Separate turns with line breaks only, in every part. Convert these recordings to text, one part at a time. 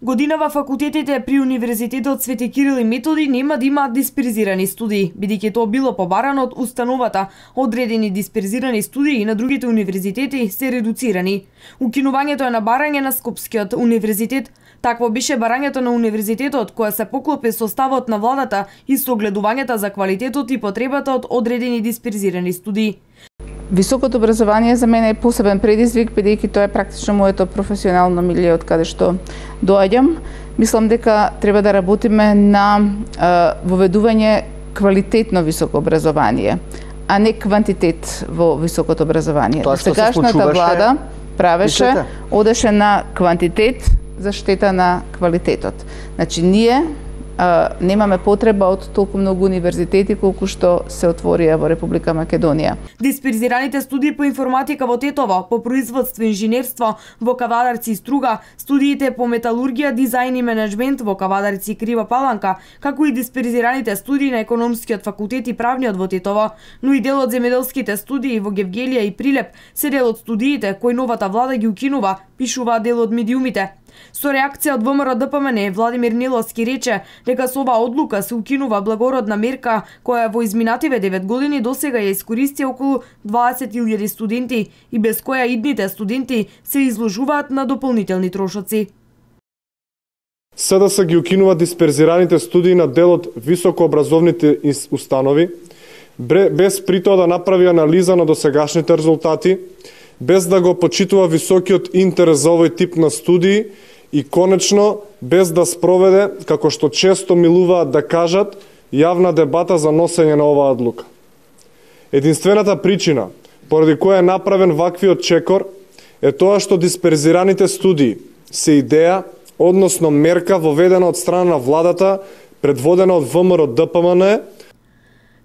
Годинава факултетите при Универзитетот Свети Кирил и Методи нема да имаат дисперзирани студии, бидејќи тоа било побарано од установата. Одредени дисперзирани студии на другите универзитети се редуцирани. Укинувањето е на барање на Скопскиот универзитет. Такво беше барањето на универзитетот, која се поклопи со ставот на владата и со огледувањата за квалитетот и потребата од одредени дисперзирани студии.
Високото образование за мене е посебен предизвик, бидејќи тоа е практично моето професионално милие од каде што доаѓам. Мислам дека треба да работиме на воведување квалитетно високо образование, а не квантитет во високото образование. Сегашната влада правеше, одеше на квантитет за штета на квалитетот. Значи, ние немаме потреба од толку многу универзитети колку што се отворија во Република Македонија.
Дисперзираните студии по информатика во Тетово, по производство и инженерство во Кавадарци и Струга, студиите по металургија, дизајн и менеджмент во Кавадарци и Крива Паланка, како и дисперзираните студии на економскиот факултет и правниот во Тетово, но и дел од земјоделските студии во Гевгелија и Прилеп се дел од студиите кои новата влада ги укинува, пишуваат дел од медиумите. Со реакција од ВМРО ДПМН, Владимир Неловски рече дека со оваа одлука се укинува благородна мерка која во изминативе 9 години досега ја искористија околу 20.000 студенти и без која идните студенти се изложуваат на дополнителни трошоци.
СДС ги укинува дисперзираните студии на дел од високообразовните установи, без при тоа да направи анализа на досегашните резултати, без да го почитува високиот интерес за овој тип на студии и конечно без да спроведе, како што често милуваат да кажат, јавна дебата за носење на оваа одлука. Единствената причина поради која е направен ваквиот чекор е тоа што дисперзираните студии се идеја, односно мерка воведена од страна на владата, предводена од ВМРО ДПМН.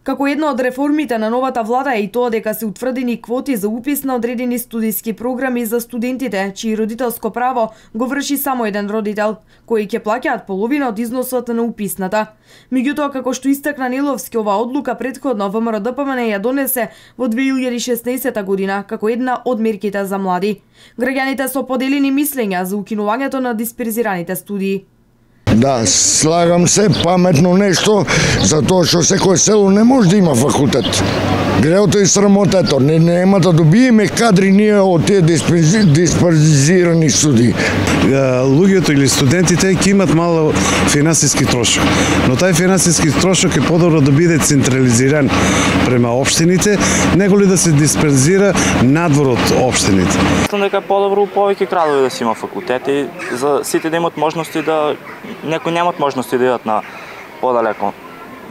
Како една од реформите на новата влада е и тоа дека се утврдени квоти за упис на одредени студиски програми за студентите, чии родителско право го врши само еден родител, кои ќе плаќаат половина од износот на уписната. Меѓутоа, како што истакна Неловски, оваа одлука претходно ВМРО ДПМН ја донесе во 2016 година како една од мерките за млади. Граѓаните со поделени мислења за укинувањето на дисперзираните студии.
Да, слагам се паметно нешто, затоа што секој село не може да има факултет. Греото и срамотето, нема да добиеме кадри ние од тие дисперзирани студии.
Луѓето или студентите ќе имат мало финансиски трошок, но тај финансиски трошок е подобро да биде централизиран према општините, него ли да се дисперзира надвор од општините.
Мислам дека е подобро повеќе градови да си има факултети, за сите да имат можности да некои немат можности да идат на подалеко,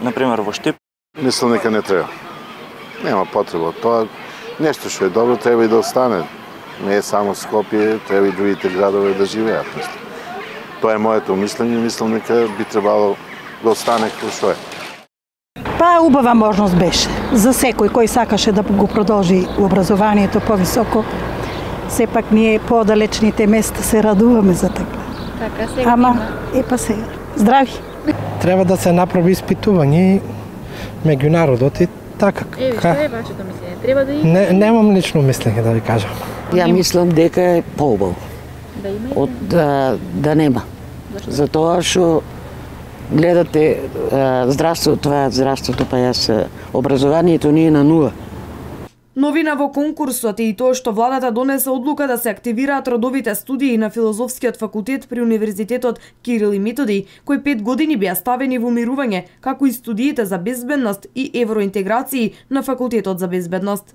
например во Штип.
Мислам дека не треба. Нема потреба. Тоа нешто што е добро треба и да остане. Не е само Скопје, треба и другите градови да живеат. Тоа е моето мислење, мислам дека би требало да остане како што е.
Па убава можност беше за секој кој сакаше да го продолжи образованието повисоко. Сепак ние подалечните места се радуваме за така.
Така сега.
Ама па сега. Здрави.
Треба да се направи испитување меѓу народот и така.
Што е вашето мислење? Треба да има?
Немам лично мислење да ви кажам.
Ја мислам дека е поубаво.
Да има и
од да нема. Затоа што гледате здравството, па јас образованието ни е на нула.
Новина во конкурсот е и тоа што владата донесе одлука да се активираат родовите студии на Филозофскиот факултет при Универзитетот Кирил и Методи, кои 5 години беа ставени во мирување, како и студиите за безбедност и евроинтеграции на Факултетот за безбедност.